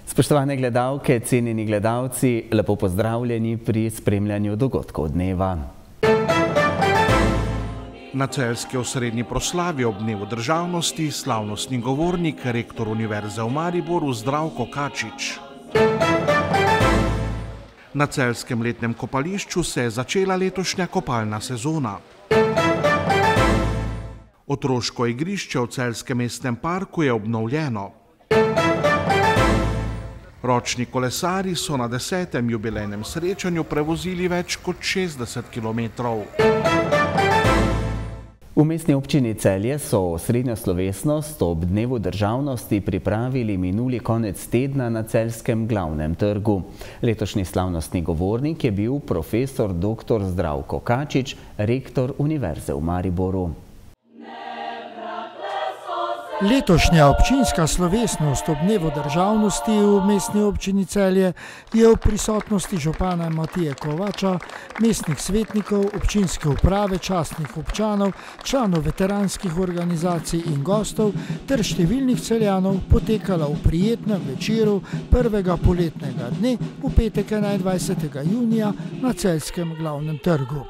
Spoštovane gledalke, cenjeni gledalci, lepo pozdravljeni pri spremljanju dogodkov dneva. Na celjski osrednji proslavi ob dnevu državnosti slavnostni govornik, rektor Univerze v Mariboru Zdravko Kačič. Na celjskem letnem kopališču se je začela letošnja kopalna sezona. Otroško igrišče v celjskem mestnem parku je obnovljeno. Ročni kolesarji so na 10. jubilejnem srečanju prevozili več kot 60 kilometrov. V mestni občini Celje so osrednjo slovesnost ob dnevu državnosti pripravili minuli konec tedna na celjskem glavnem trgu. Letošnji slavnostni govornik je bil profesor dr. Zdravko Kačič, rektor Univerze v Mariboru. Letošnja občinska slovesnost ob dnevu državnosti v mestni občini Celje je v prisotnosti župana Matije Kovača, mestnih svetnikov, občinske uprave, častnih občanov, članov veteranskih organizacij in gostov ter številnih Celjanov potekala v prijetnem večeru prvega poletnega dne v petek 21. junija na celjskem glavnem trgu.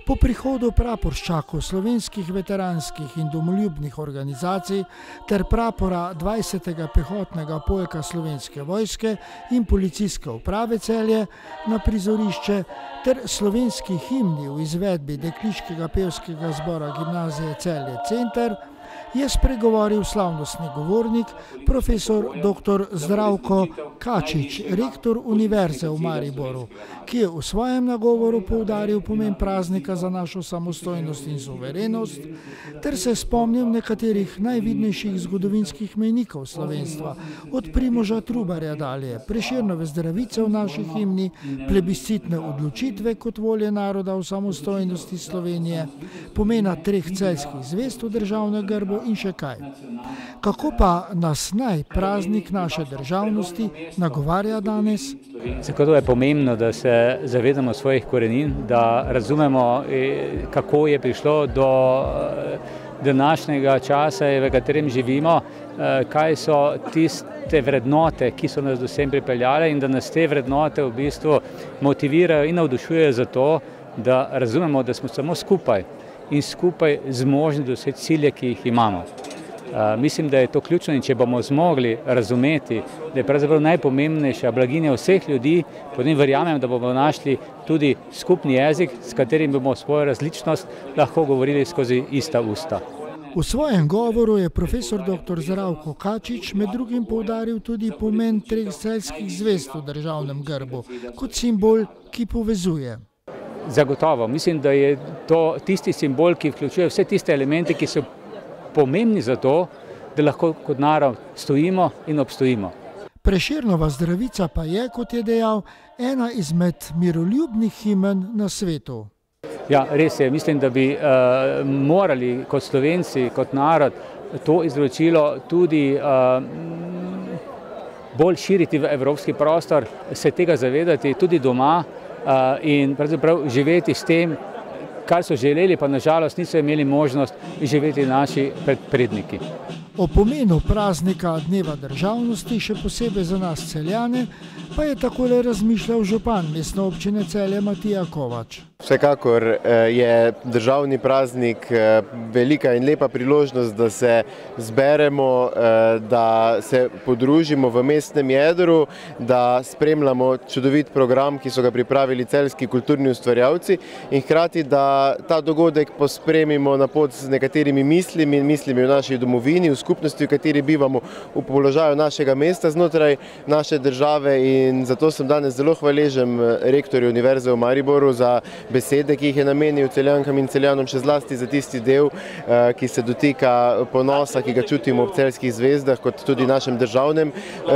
Po prihodu praporščakov slovenskih veteranskih in domoljubnih organizacij ter prapora 20. pehotnega polka Slovenske vojske in policijske uprave Celje na prizorišče ter slovenski himni v izvedbi Dekliškega pevskega zbora Gimnazije Celje Center je spregovoril slavnostni govornik, profesor dr. Zdravko Kačič, rektor Univerze v Mariboru, ki je v svojem nagovoru poudaril pomen praznika za našo samostojnost in suverenost, ter se spomnil nekaterih najvidnejših zgodovinskih mejnikov slovenstva, od Primoža Trubarja dalje, Prešernove Zdravice v naši himni, plebiscitne odločitve kot volje naroda v samostojnosti Slovenije, pomena 3 celjskih zvezd v državnem grbu in še kaj. Kako pa nas naj praznik naše državnosti nagovarja danes? Zato je pomembno, da se zavedamo svojih korenin, da razumemo, kako je prišlo do današnjega časa, v katerem živimo, kaj so tiste vrednote, ki so nas do sem pripeljale in da nas te vrednote v bistvu motivirajo in navdušujejo za to, da razumemo, da smo samo skupaj in skupaj zmožni doseči cilje, ki jih imamo. Mislim, da je to ključno in če bomo zmogli razumeti, da je pravzaprav najpomembnejša blaginja vseh ljudi, potem verjamem, da bomo našli tudi skupni jezik, s katerim bomo svojo različnost lahko govorili skozi ista usta. V svojem govoru je profesor dr. Zdravko Kačič med drugim poudaril tudi pomen 3 celjskih zvezd v državnem grbu, kot simbol, ki povezuje. Zagotovo. Mislim, da je to tisti simbol, ki vključuje vse tiste elemente, ki so pomembni za to, da lahko kot narod stojimo in obstojimo. Prešernova Zdravica pa je, kot je dejal, ena izmed miroljubnih himen na svetu. Ja, res je. Mislim, da bi morali kot Slovenci, kot narod, to izročilo tudi bolj širiti v evropski prostor, se tega zavedati tudi doma in pravzaprav živeti s tem, kar so želeli, pa nažalost niso imeli možnost živeti naši predniki. O pomenu praznika dneva državnosti, še posebej za nas Celjane, pa je takole razmišljal župan mestne občine Celje Matija Kovač. Vsekakor je državni praznik velika in lepa priložnost, da se zberemo, da se podružimo v mestnem jedru, da spremljamo čudovit program, ki so ga pripravili celjski kulturni ustvarjalci in hkrati, da ta dogodek pospremimo na pot z nekaterimi mislimi v naši domovini, v skupnosti, v kateri bivamo, v položaju našega mesta znotraj naše države in zato sem danes zelo hvaležen rektorju Univerze v Mariboru za besede, ki jih je namenil Celjankam in Celjanom, še zlasti za tisti del, ki se dotika ponosa, ki ga čutimo ob celjskih zvezdah, kot tudi našem državnem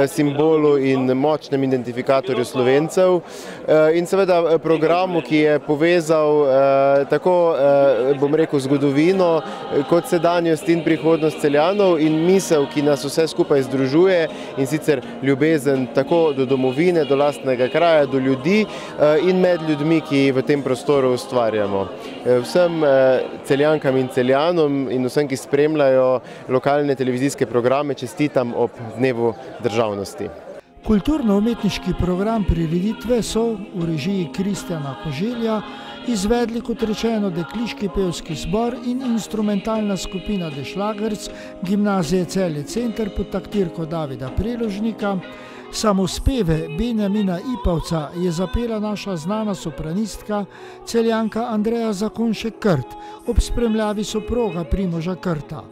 simbolu in močnem identifikatorju Slovencev. In seveda programu, ki je povezal tako, bom rekel, zgodovino, kot sedanjost in prihodnost Celjanov in misel, ki nas vse skupaj združuje in sicer ljubezen tako do domovine, zgodovine, do lastnega kraja, do ljudi in med ljudmi, ki v tem prostoru ustvarjamo. Vsem Celjankam in Celjanom in vsem, ki spremljajo lokalne televizijske programe, čestitam ob Dnevu državnosti. Kulturno-umetniški program prireditve so v režiji Kristjana Koželja izvedli, kot rečeno, dekliški pevski zbor in instrumentalna skupina The Schlagers Gimnazije Celje Center pod taktirko Davida Preložnika. Samospeve Benjamina Ipavca je zapela naša znana sopranistka Celjanka Andreja Zakonšek-Krt ob spremljavi soproga Primoža Krta.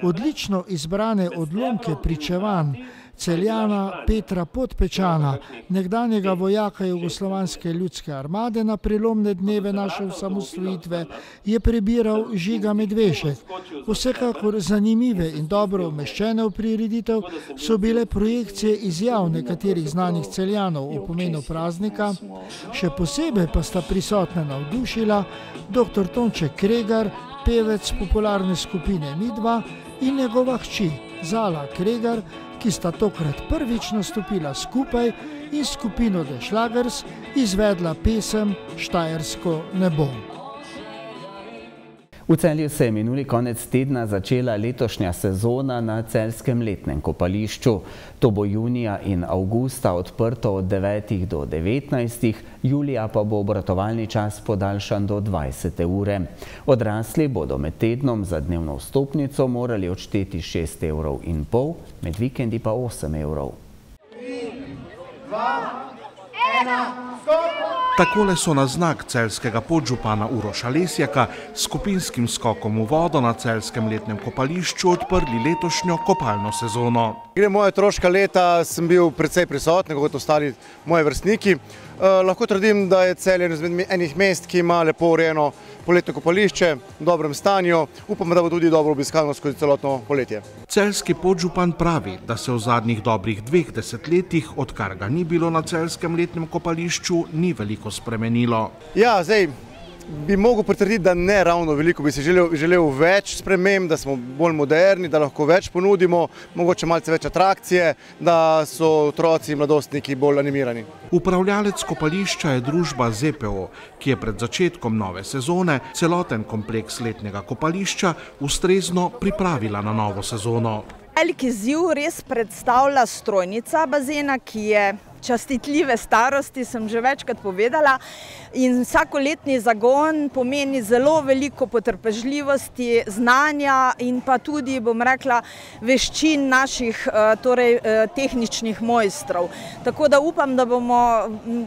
Odlično izbrane odlomke pričevanj Celjana Petra Podpečana, nekdanjega vojaka Jugoslovanske ljudske armade na prelomne dneve naše osamosvojitve, je prebiral Žiga Medvešek. Vsekakor zanimive in dobro umeščene v prireditev so bile projekcije izjav nekaterih znanih Celjanov o pomenu praznika, še posebej pa sta prisotna navdušila dr. Tonče Kregar, pevec popularne skupine Midva, in njegova hči Zala Kregar, ki sta tokrat prvič nastopila skupaj in skupino The Schlagers izvedla pesem Štajersko nebo. V Celju se je minuli konec tedna začela letošnja sezona na celjskem letnem kopališču. To bo junija in avgusta odprto od 9 do 19, julija pa bo obratovalni čas podaljšan do 20 ure. Odrasli bodo med tednom za dnevno vstopnico morali odšteti 6,5 €, med vikendi pa 8 €. 3, 2, 1, stop! Takole so na znak celjskega podžupana Uroša Lesjaka s skupinskim skokom v vodo na celjskem letnem kopališču odprli letošnjo kopalno sezono. Gre moja otroška leta, sem bil precej prisoten, kot ostali moji vrstniki. Lahko trdim, da je Celje enih mest, ki ima lepo urejeno poletno kopališče, v dobrem stanju. Upam, da bo tudi dobro obiskano skozi celotno poletje. Celjski podžupan pravi, da se v zadnjih dobrih 2 desetletjih, odkar ga ni bilo na celjskem letnem kopališču, ni veliko spremenilo. Ja, zdaj bi mogel potrditi, da ne ravno veliko, bi si želel več sprememb, da smo bolj moderni, da lahko več ponudimo, mogoče malce več atrakcije, da so otroci in mladostniki bolj animirani. Upravljalec kopališča je družba ZPO, ki je pred začetkom nove sezone celoten kompleks letnega kopališča ustrezno pripravila na novo sezono. Veliki izziv res predstavlja strojnica bazena, ki je častitljive starosti, sem že večkrat povedala, in vsakoletni zagon pomeni zelo veliko potrpežljivosti, znanja in pa tudi, bom rekla, veščin naših tehničnih mojstrov. Tako da upam, da bomo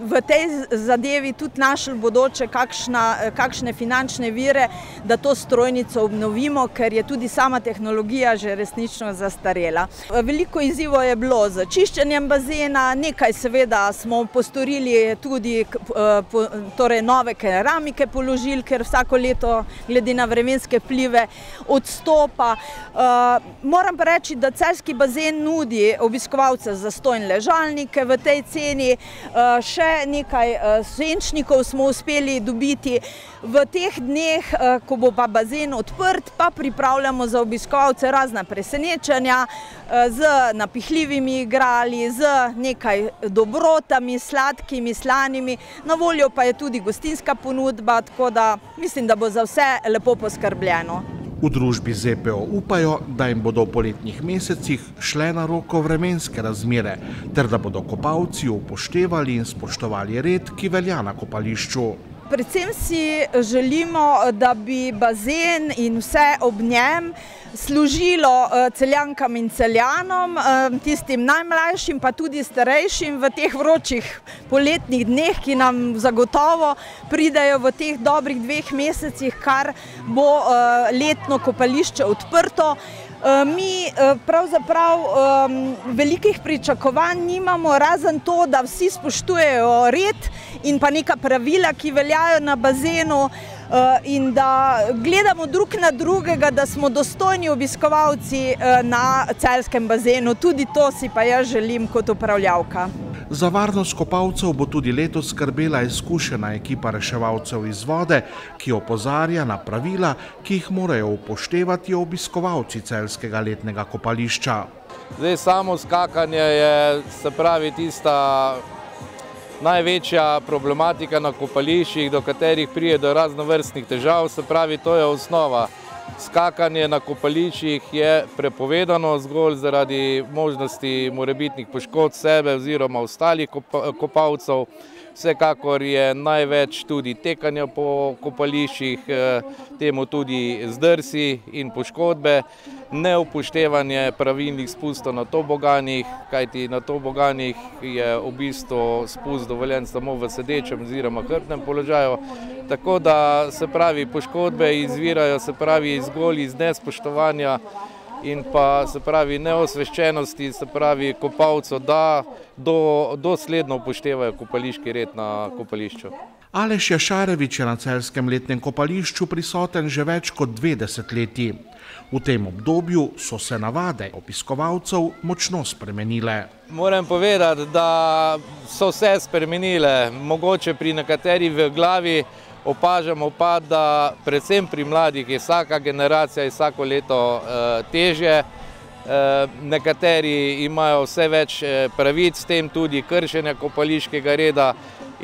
v tej zadevi tudi našli bodoče kakšne finančne vire, da to strojnico obnovimo, ker je tudi sama tehnologija že resnično zastarela. Veliko izzivov je bilo z čiščenjem bazena, nekaj seveda smo postorili tudi nove keramike položili, ker vsako leto glede na vremenske vplive odstopa. Moram pa reči, da celjski bazen nudi obiskovalce zastonj ležalnike v tej ceni, še nekaj senčnikov smo uspeli dobiti. V teh dneh, ko bo pa bazen odprt, pa pripravljamo za obiskovalce razna presenečenja z napihljivimi igrali, z nekaj dobrotami, sladkimi, slanimi. Na voljo pa je tudi gostinska ponudba, tako da mislim, da bo za vse lepo poskrbljeno. V družbi ZPO upajo, da jim bodo v poletnih mesecih šle na roko vremenske razmere, ter da bodo kopalci upoštevali in spoštovali red, ki velja na kopališču. Predvsem si želimo, da bi bazen in vse ob njem služilo Celjankam in Celjanom, tistim najmlajšim pa tudi starejšim v teh vročih poletnih dneh, ki nam zagotovo pridejo v teh dobrih 2 mesecih, kar bo letno kopališče odprto. Mi pravzaprav velikih pričakovanj nimamo, razen to, da vsi spoštujejo red in pa neka pravila, ki veljajo na bazenu, in da gledamo drug na drugega, da smo dostojni obiskovalci na celjskem bazenu. Tudi to si pa jaz želim kot upravljavka. Za varnost kopalcev bo tudi letos skrbela izkušena ekipa reševalcev iz vode, ki opozarja na pravila, ki jih morajo upoštevati obiskovalci celjskega letnega kopališča. Zdaj samo skakanje je, se pravi, tista največja problematika na kopališčih, do katerih pride do raznovrstnih težav, se pravi, to je osnova. Skakanje na kopališčih je prepovedano zgolj zaradi možnosti morebitnih poškodb sebe oziroma ostalih kopalcev. Vsekakor je največ tudi tekanja po kopališčih, temu tudi zdrsi in poškodbe, neupoštevanje pravilnih spustov na toboganih, kajti na toboganih je v bistvu spust dovoljen samo v sedečem oziroma hrbtnem položaju. Tako da se pravi poškodbe izvirajo zgolj iz nespoštovanja in pa se pravi neosveščenosti, se pravi kopalcev, da dosledno upoštevajo kopališki red na kopališču. Aleš Jašarevič je na celjskem letnem kopališču prisoten že več kot 2 desetletji. V tem obdobju so se navade obiskovalcev močno spremenile. Moram povedati, da so se spremenile, mogoče pri nekaterih v glavi, opažamo pa, da predvsem pri mladih je vsaka generacija vsako leto težje. Nekateri imajo vse več pravic, s tem tudi kršenja kopališkega reda.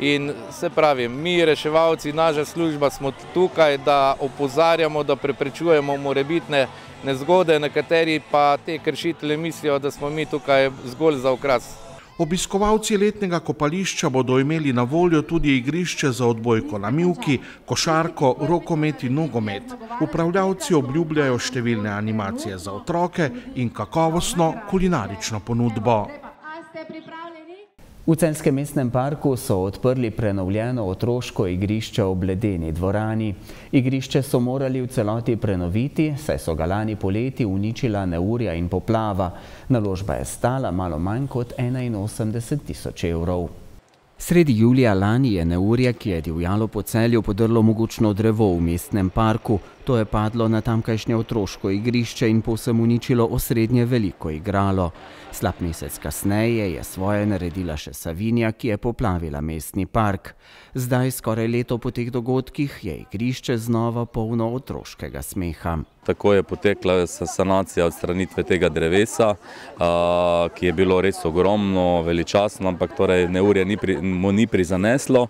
In se pravi, mi reševalci, naša služba smo tukaj, da opozarjamo, da preprečujemo morebitne nezgode, nekateri pa te kršitelje mislijo, da smo mi tukaj zgolj za okras. Obiskovalci letnega kopališča bodo imeli na voljo tudi igrišče za odbojko na mivki, košarko, rokomet in nogomet. Upravljavci obljubljajo številne animacije za otroke in kakovostno kulinarično ponudbo. V Celjskem mestnem parku so odprli prenovljeno otroško igrišče ob ledeni dvorani. Igrišče so morali v celoti prenoviti, saj so ga lani poleti uničila neurja in poplava. Naložba je stala malo manj kot 81 tisoč evrov. Sredi julija lani je neurje, ki je divjalo po Celju, podrlo mogočno drevo v mestnem parku. To je padlo na tamkajšnje otroško igrišče in povsem uničilo osrednje veliko igralo. Slab mesec kasneje je svoje naredila še Savinja, ki je poplavila mestni park. Zdaj, skoraj leto po teh dogodkih, je igrišče znova polno otroškega smeha. Tako je potekla sanacija odstranitve tega drevesa, ki je bilo res ogromno, veličastno, ampak torej neurje mu ni prizaneslo.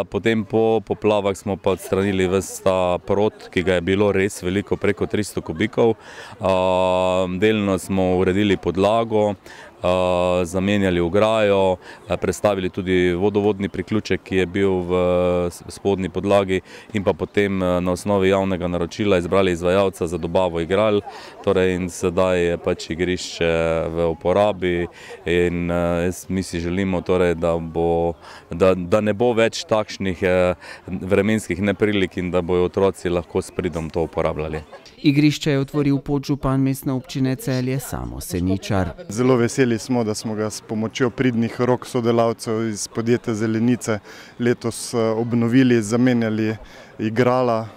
Potem po poplavah smo pa odstranili ves ta prod, ki ga je bilo res veliko, preko 300 kubikov. Delno smo uredili podlago, zamenjali ograjo, prestavili tudi vodovodni priključek, ki je bil v spodnji podlagi, in pa potem na osnovi javnega naročila izbrali izvajalca za dobavo igral. Torej in sedaj je pač igrišče v uporabi in mi si želimo torej, da ne bo več takšnih vremenskih neprilik in da bojo otroci lahko s pridom to uporabljali. Igrišče je otvoril podžupan mestne občine Celje Samo Seničar. Zelo veseli smo, da smo ga s pomočjo pridnih rok sodelavcev iz podjetja Zelenice letos obnovili, zamenjali igrala,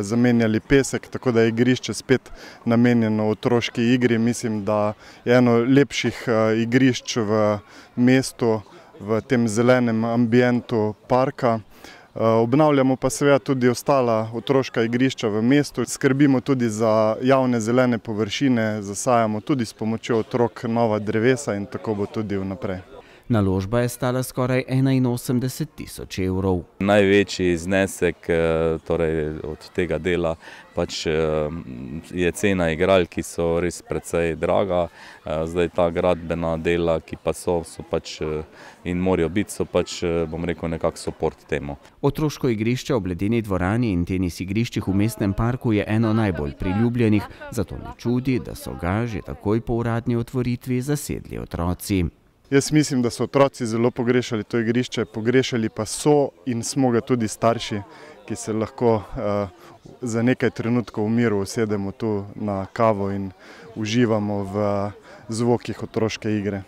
zamenjali pesek, tako da je igrišče spet namenjeno otroški igri. Mislim, da je eno lepših igrišč v mestu, v tem zelenem ambientu parka. Obnavljamo pa seveda tudi ostala otroška igrišča v mestu, skrbimo tudi za javne zelene površine, zasajamo tudi s pomočjo otrok nova drevesa in tako bo tudi vnaprej. Naložba je stala skoraj 81 tisoč evrov. Največji znesek torej od tega dela pač je cena igral, ki so res precej draga. Zdaj ta gradbena dela, ki pa so pač in morajo biti, so pač, bom rekel, nekak support temu. Otroško igrišče ob ledeni dvorani in tenis igriščih v mestnem parku je eno najbolj priljubljenih, zato ne čudi, da so ga že takoj po uradni otvoritvi zasedli otroci. Jaz mislim, da so otroci zelo pogrešali to igrišče, pogrešali pa so in smo ga tudi starši, ki se lahko za nekaj trenutkov v miru usedemo tu na kavo in uživamo v zvokih otroške igre.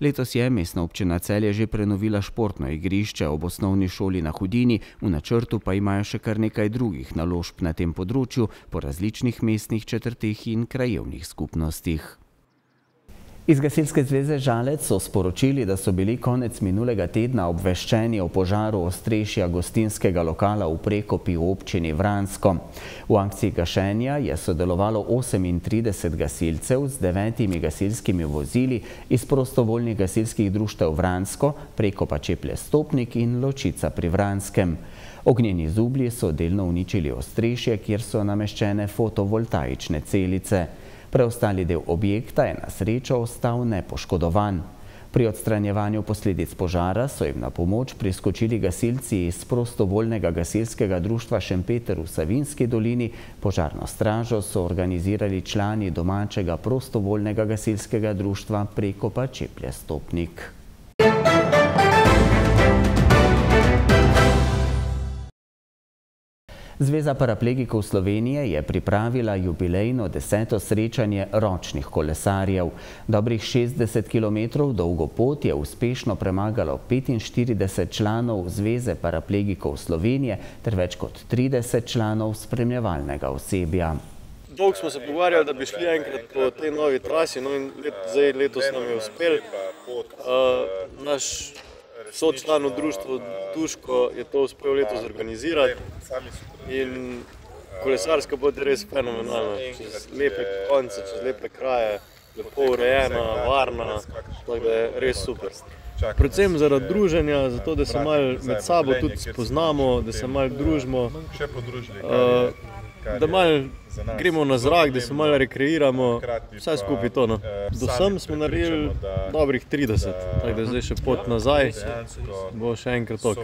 Letos je mestna občina Celje že prenovila športno igrišče ob osnovni šoli na Hudini, v načrtu pa imajo še kar nekaj drugih naložb na tem področju po različnih mestnih četrteh in krajevnih skupnostih. Iz Gasilske zveze Žalec so sporočili, da so bili konec minulega tedna obveščeni o požaru ostrešja gostinskega lokala v Prekopi v občini Vransko. V akciji gašenja je sodelovalo 38 gasilcev z 9 gasilskimi vozili iz prostovoljnih gasilskih društev Vransko, Prekopa Čeplje-Stopnik in Ločica pri Vranskem. Ognjeni zublji so delno uničili ostrešje, kjer so nameščene fotovoltaične celice. Preostali del objekta je na srečo ostal nepoškodovan. Pri odstranjevanju posledic požara so jim na pomoč priskočili gasilci iz prostovoljnega gasilskega društva Šempeter v Savinjski dolini. Požarno stražo so organizirali člani domačega prostovoljnega gasilskega društva Prekopa Čeplje-Stopnik. Zveza paraplegikov Slovenije je pripravila jubilejno 10. srečanje ročnih kolesarjev. Dobrih 60 km dolgo pot je uspešno premagalo 45 članov Zveze paraplegikov Slovenije ter več kot 30 članov spremljevalnega osebja. Dolgo smo se pogovarjali, da bi šli enkrat po tej novi trasi, no in letos nam je uspel. Naš sočlan v društvu Duško je to uspel letos organizirati in kolesarska pot je res fenomenalna, čez lepe konce, čez lepe kraje, lepo urejena, varna, tako da je res super. Predvsem zaradi druženja, zato da se malo med sabo tudi spoznamo, da se malo družimo, da malo gremo na zrak, da se malo rekreiramo, vse skupaj to. Do sem smo naredili dobrih 30, tako da zdaj še pot nazaj, bo še enkrat tok.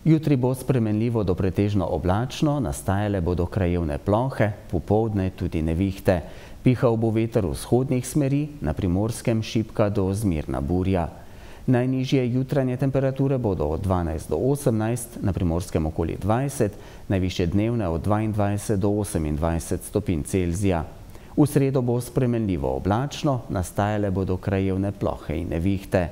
Jutri bo spremenljivo do pretežno oblačno, nastajale bodo krajevne plohe, popoldne tudi nevihte. Pihal bo veter vzhodnih smeri, na Primorskem šibka do zmerna burja. Najnižje jutranje temperature bodo od 12 do 18, na Primorskem okoli 20, najvišje dnevne od 22 do 28 stopinj Celzija. V sredo bo spremenljivo oblačno, nastajale bodo krajevne plohe in nevihte.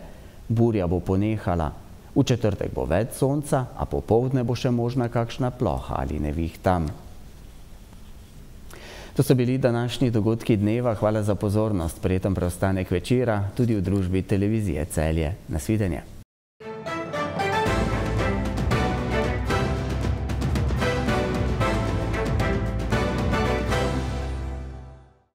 Burja bo ponehala. V četrtek bo več sonca, a popoldne bo še možna kakšna ploha ali nevihta. To so bili današnji dogodki dneva. Hvala za pozornost. Prijeten preostanek večera tudi v družbi televizije Celje. Nasvidenje.